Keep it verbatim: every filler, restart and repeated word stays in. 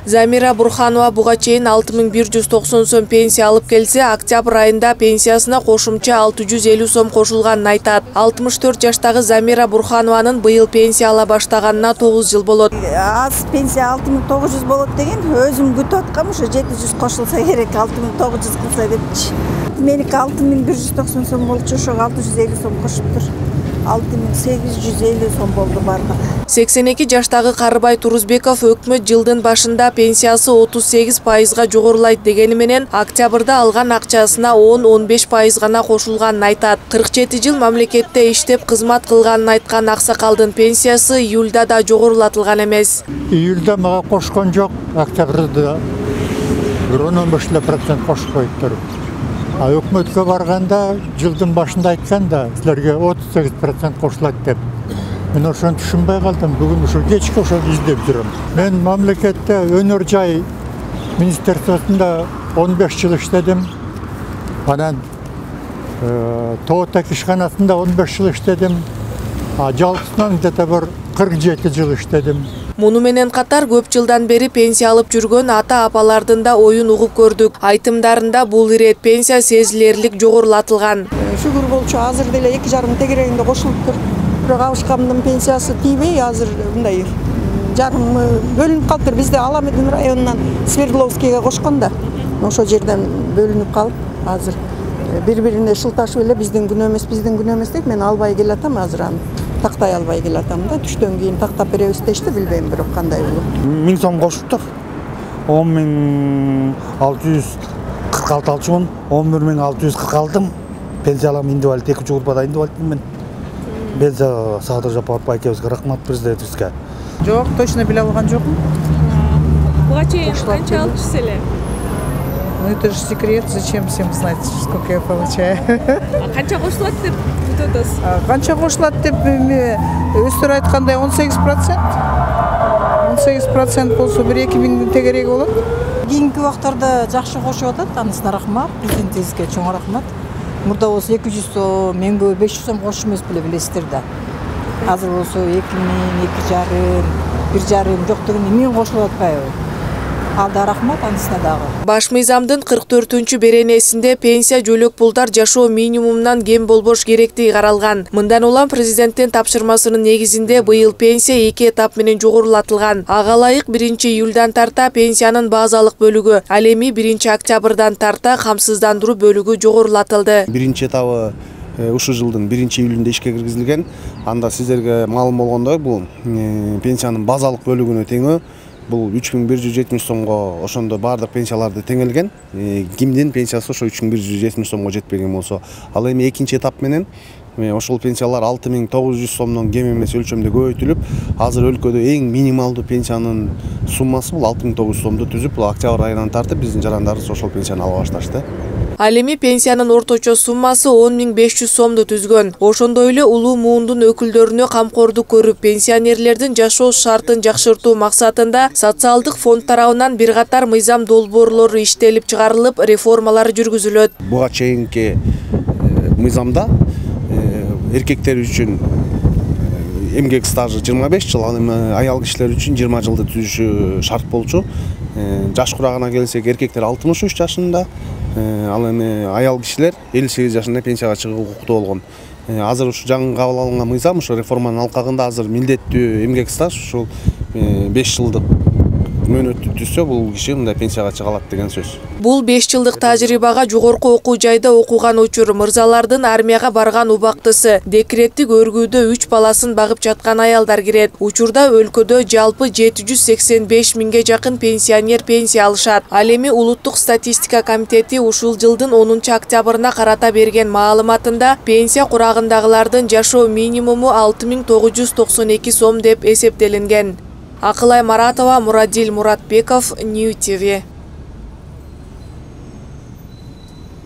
Замира Бурханова буга чейин алты миң бир жүз токсон сом пенсия алып келсе, октябрь айында пенсиясына кошумча алты жүз элүү сом кошулганын айтат. алтымыш төрт жаштагы Замира Бурханованын быйыл пенсия ала баштаганына тогуз жыл болот. Аз пенсия алты миң тогуз жүз болот деген, өзүм күтүп аткам, ушу жети жүз кошулса керек, алты миң тогуз жүз кылса депчи. Меники алты миң бир жүз токсон сом болчу, ошого алты жүз элүү сом кошуптур. алты миң сегиз жүз элүү сом болду бардыгы. сексен эки жаштагы Карыбай Турузбеков өкмөт жылдын башында пенсиясы отуз сегиз пайызга жогорулайт дегени менен октябрда алган акчасына он он беш пайыз гана кошулганын айтат. кырк жети жыл мамлекетте иштеп кызмат кылганын айткан аксакалдын пенсиясы июлда да жогорулатылган эмес. Июлда мага кошкон жок, октябрда он он беш процент кошуп коюптур. А өкмөткө барганда жылдын башында айтканда силерге отуз сегиз процент кошулат деп. Мен ошону түшүнбөй калдым. Бүгүн ушу кечке ошону издеп жүрөм. Мен мамлекетте өнөр жай министерствосунда он беш жыл иштедим. Анан Тоотек ишканасында он беш жыл иштедим. А жалпысынан где-то бир кырк жети жыл иштедим. Муну менен катар көп жылдан бери пенсия алып жүргөн ата-апалардын да оюн угуп көрдүк. Айтымдарында бул ирет пенсия сезилерлик жогорулатылган. Шүгүр болчу, азыр деле эки жарым тегерегинде кошулуптур. Бирок абышкамдын пенсиясы тийбей, азыр мындай жарым бөлүнүп калыптыр. Бизде Аламедин районунан Свердловскийге кошкон да. Ошол жерден бөлүнүп калып, азыр бири-бирине шылташып эле биздин күнөө эмес, биздин күнөө эмес дейт. Мен албай келатам азыр аны. Тактай албай келатам да. Түштөн кийин тактап беребиз дешти, билбейм бирок кандай болот. миң сом кошуптур. он миң алты жүз кырк алты алчумун, он бир миң алты жүз кырк алдым. Пенсия алам, инвалид, экинчи группада инвалидмин. Пенсия Садыр Жапаров айкебизге рахмат, президентибизге. Жок, точно биле алган жокмун. Буга чейин канча алчусуз эле? Ну это же секрет, зачем всем знать, сколько я получаю. А канча кошулат деп күтүп атасыз? Канча кошулат деп өздөрү айткандай он сегиз процент. он сегиз процент болсо бир эки миңдин тегереги болот. Кийинки убактарда жакшы кошуп атат, анысына рахмат, президентибизге чоң рахмат. Мурда болсо эки жүз сом, меңге беш жүз сом кошуп эмес беле билесиздер да. Азыр болсо эки миң, эки жарым, бир жарым жок дегенде миң кошулуп атпайбы? Алда рахмат, анысына дагы. Баш мыйзамдын кырк төртүнчү беренесинде пенсия жөлөк пулдар жашоо минимумунан кем болбош керектиги каралган. Мындан улам президенттин тапшырмасынын негизинде быйыл пенсия эки этап менен жогорулатылган. Ага ылайык биринчи июлдан тарта пенсиянын базалык бөлүгү, ал эми биринчи октябрдан тарта камсыздандыруу бөлүгү жогорулатылды. Биринчи этабы ушул жылдын биринчи июлунда ишке киргизилген. Анда сиздерге маалым болгондой, бул пенсиянын базалык бөлүгүнө теңөө. Бул үч миң бир жүз жетимиш сомго ошондо бардык пенсияларды теңелген. Кимдин пенсиясы ошо үч миң бир жүз жетимиш сомго жетпеген болсо, ал эми экинчи этап менен ошол пенсиялар алты миң тогуз жүз сомдон кем эмес өлчөмдө көбөйтүлүп, азыр өлкөдө эң минималдуу пенсиянын суммасы бул алты миң тогуз жүз сомду түзүп, бул октябрь айынан тартып биздин жарандарыбыз ошол пенсияны ала башташты. Ал эми пенсиянын орточо суммасы он миң беш жүз сомду түзгөн. Ошондой эле улуу муундун өкүлдөрүнө камкордук көрүп, пенсионерлердин жашоо шартын жакшыртуу максатында социалдык фонд тарабынан бир катар мыйзам долбоорлору иштелип чыгарылып, реформалар жүргүзүлөт. Буга чейинки мыйзамда эркектер үчүн эмгек стажы жыйырма беш жыл, ал эми аял кишилер үчүн жыйырма жылды түзүшү шарт болчу. Жаш курагына келсек, эркектер алтымыш үч жашында, ал эми аял кишилер элүү сегиз жашында пенсияга чыгууга укуктуу болгон. Азыр ушу жаңы кабыл алынган мыйзам ушу реформанын алкагында азыр милдеттүү эмгек стаж ушул беш жылдык мөөнөттү түзсө, бул киши мындай пенсияга чыга алат деген сөз. Бул беш жылдык тажрыйбага жогорку окуу жайда окуган учур мырзалардын армияга барган убактысы, декреттик өргүүдө үч баласын багып жаткан аялдар кирет. Учурда өлкөдө жалпы жети жүз сексен беш миңге жакын пенсионер пенсия алышат. Ал эми Улуттук статистика комитети ушул жылдын онунчу октябрына карата берген маалыматында пенсия курагындагылардын жашоо минимуму алты миң тогуз жүз токсон эки сом деп эсептелинген. Акылай Маратова, Мурадил Муратбеков, Нью ти ви.